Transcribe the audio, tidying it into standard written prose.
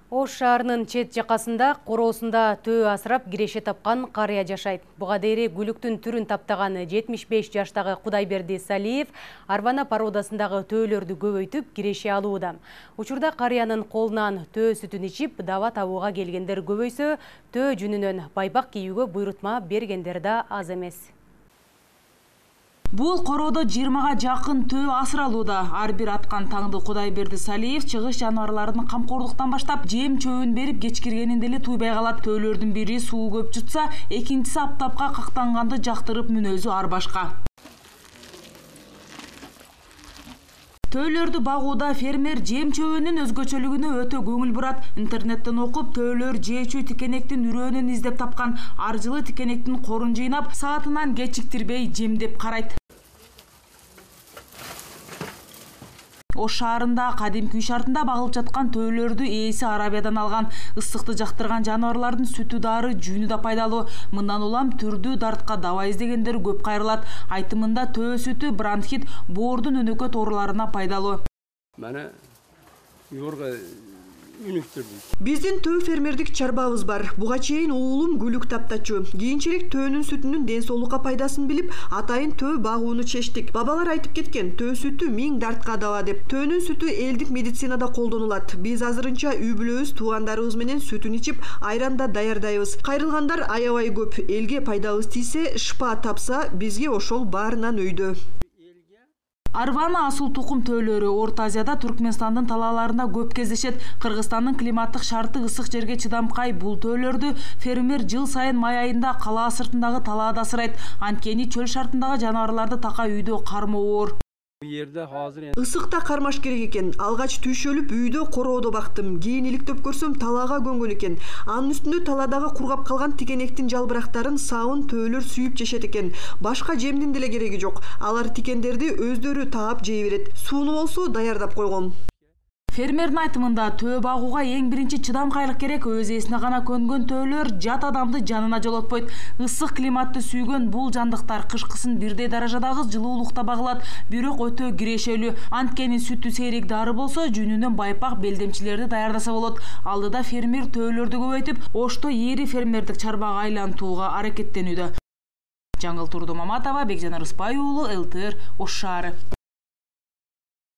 Ош шаарынын чет жакасында короосунда төө асырап киреше тапкан карыя жашайт. Буга дейери гүлүктүн түрүн таптаган 75 жаштагы Кудайберди Салиев арвана породасындагы төөлөрдү көбөйтүп киреше алууда. Учурда карыянын колунан төө сүтүн ичип даба табууга келгендер көбөйсө, төө жүнүнөн байпак кийүүгө буйрутма бергендер да аз эмес. Бул короодо 20га жакын төө асыралууда. Ар бир аткан таңды Кудайберди Салиев чыгыш жаныбарларын камкордуктан баштап жем чөбүн берип кечкиргенинде эле туйбай калат. Төөлөрдүн бири суу көп жутса, экинчиси аптапка кактанганды жактырып мүнөзү ар башка. Төөлөрдү багууда фермер жем чөбүнүн өзгөчөлүгүнө өтө көңүл бурат. Интернеттен окуп, төөлөр жеечүү тикенектин үрөөнүн издеп тапкан. Ар жылы тикенектин корун жыйнап, саатынан кечиктирбей жемдеп карайт. Ош шаарында кадимки үй шартында багылып жаткан төөлөрдү ээси Арабиядан алган. Ысыкты жактырган жаныбарлардын сүтү дары, жүнү да пайдалуу. Мындан улам түрдүү дартка даба издегендер көп кайрылат. Айтымында төө сүтү бронхит, боордун өнөкөт ооруларына пайдалуу. Мана юрга үнүктүрдү. Биздин төө фермердик чарбабыз бар. Буга чейин уулум гүлүк таптачу. Кийинчерээк төөнүн сүтүнүн ден соолукка пайдасын билип, атайын төө багууну чечтик. Бабалар айтып кеткен, төө сүтү 1000 дартка дава деп. Төөнүн сүтү элдик медицинада колдонулат. Биз азырынча үй бүлөбүз, туугандарыбыз менен сүтүн ичип, айран да даярдайбыз. Кайрылгандар аябай көп. Элге пайдабыз тийсе, шыпа тапса, бизге ошол баарынан өйдө. Арвана асыл тукум төөлөрү Орто Азияда Түркмөнстандын талааларында көп кездешет. Кыргызстандын климаттык шарты ысык жерге чыдамкай бул төөлөрдү фермер жыл сайын май айында калаа сыртындагы талаада асырайт. Анткени чөл шартындагы жаныбарларды така үйдө кармоо оор. Ысыкта кармаш керек экен. Алгач түйшөлүп үйдө короодо бактым. Кийин иликтеп көрсөм талаага көнгөн экен. Анын үстүндө таладагы кургап калган тикенектин жалбырактарын сабын төөлөр сүйүп жешет экен. Башка жемдин деле кереги жок. Алар тикендерди өздөрү таап жей берет. Сууну болсо даярдап койгом. Фермердин айтымында төө багууга эң биринчи чыдамкайлык керек. Өз ээсине гана көнгөн төөлөр жат адамды жанына жолотпойт. Ысык климатты сүйгөн бул жандыктар кышкысын бирдей даражадагы жылуулукта багылат, бирок өтө кирешелүү. Анткени сүтү сейрек дары болсо, жүнүнөн байпак белдемчилерди даярдаса болот. Алдыда фермер төөлөрдү көбөйтүп, Ошто ээри фермердик чарбага айлантууга аракеттенүүдө. Жаңыл Турду Маматова, Бекжан Арыспай уулу, ЛТР, Ош шаары.